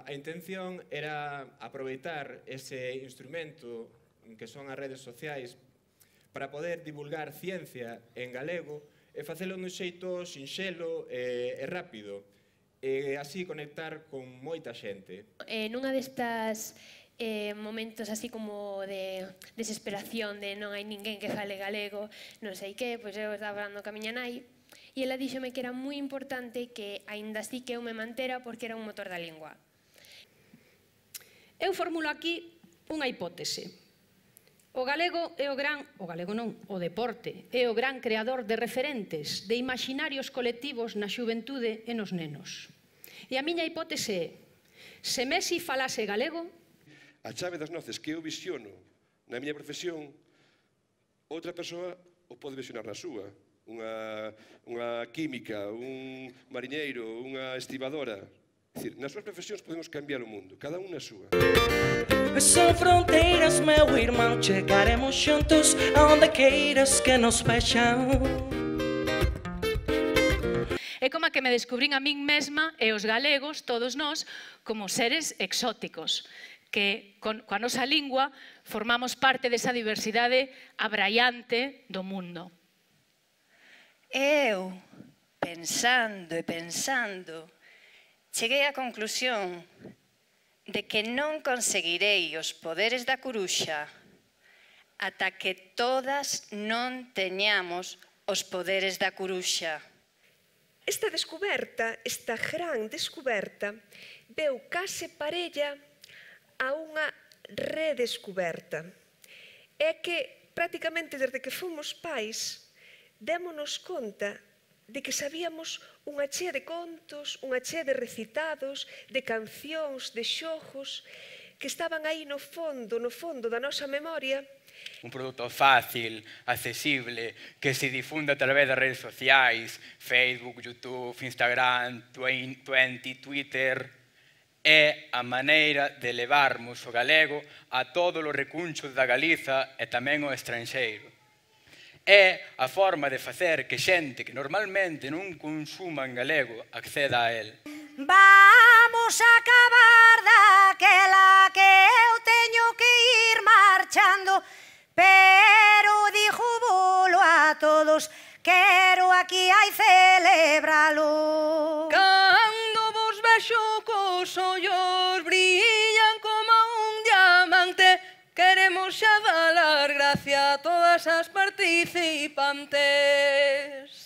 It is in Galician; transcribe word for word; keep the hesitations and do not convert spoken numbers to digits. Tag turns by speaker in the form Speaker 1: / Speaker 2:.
Speaker 1: a intención era aproveitar ese instrumento que son as redes sociais para poder divulgar ciencia en galego e facelo nun xeito sinxelo e rápido, e así conectar con moita xente.
Speaker 2: Nunha destas momentos así como de desesperación, de non hai ninguén que fale galego, non sei que, pois eu estaba falando ca miña nai e ela díxome que era moi importante que aínda así que eu me mantera porque era un motor da lingua.
Speaker 3: Eu formulo aquí unha hipótese. O galego é o gran, o galego non, o deporte, é o gran creador de referentes, de imaginarios colectivos na xuventude e nos nenos. E a miña hipótese é, se Messi falase galego,
Speaker 4: a chave das noces que eu visiono na miña profesión, outra persoa o pode visionar na súa. Unha, unha química, un mariñeiro, unha estibadora. É dicir, nas súas profesións podemos cambiar o mundo, cada un na súa.
Speaker 5: Son fronteiras, meu irmão, chegaremos xuntos aonde queiras que nos vexan.
Speaker 6: É como que me descubrín a min mesma e os galegos, todos nós, como seres exóticos, que coa nosa lingua formamos parte desa diversidade abraiante do mundo.
Speaker 7: Eu, pensando e pensando, cheguei á conclusión de que non conseguirei os poderes da curuxa ata que todas non teñamos os poderes da curuxa.
Speaker 8: Esta descoberta, esta gran descoberta, veu case parella a unha redescoberta. É que, prácticamente, desde que fomos pais, démonos conta de que sabíamos unha chea de contos, unha chea de recitados, de cancións, de xogos, que estaban aí no fondo, no fondo da nosa memoria.
Speaker 9: Un produto fácil, accesible, que se difunda a través das redes sociais, Facebook, YouTube, Instagram, Twenty, Twitter, é a maneira de levarmos o galego a todos os recunchos da Galiza e tamén ao estranxeiro. É a forma de facer que xente que normalmente non consuma en galego acceda a él.
Speaker 10: Vamos a acabar daquela que eu teño que ir marchando, pero dixo bolo a todos, quero aquí hai celebralo.
Speaker 5: Cando vos vexo cos ollos brillan como un diamante, queremos xa dar gracia a todas as participantes.